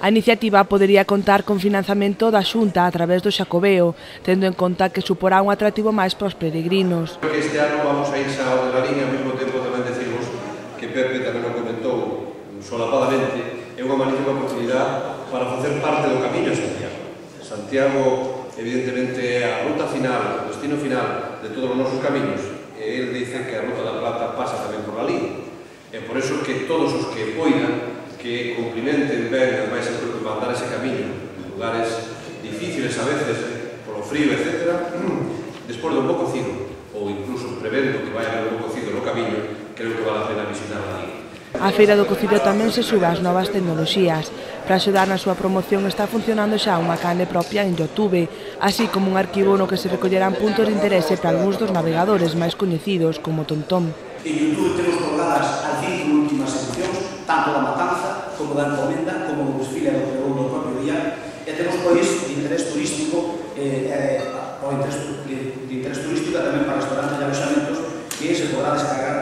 A iniciativa podería contar con financiamento da Xunta a través do Xacobeo, tendo en conta que suporá un atractivo máis para os peregrinos. Creo que este ano vamos a ir xa de la línea, ao mesmo tempo tamén decimos que Pepe tamén o comentou solapadamente, é unha magnífica oportunidade para facer parte do camiño a Santiago. Santiago, evidentemente, é a ruta final, o destino final de todos os nosos camiños. Ele dice que a Ruta da Plata pasa tamén por ali. É por eso que todos os que poidan que cumplimenten ben, ademais, mandar ese camiño en lugares difíciles a veces, polo frío, etc. Despois do bo cocido, ou incluso prevendo que vai haber un bo cocido no camiño, creo que vale a pena visitar ali. A Feira do Cocido tamén se sube ás novas tecnoloxías. Para axudar na súa promoción está funcionando xa unha canle propia en YouTube, así como un arquivo no que se recollerán puntos de interese para algúns dos navegadores máis coñecidos, como TomTom. En YouTube temos colgadas as 5 últimas edicións, tanto da matanza, como da encomenda, como do desfile do pregón do propio día, e temos, pois, de interés turístico, tamén para restaurantes e aloxamentos, que se podrá descargar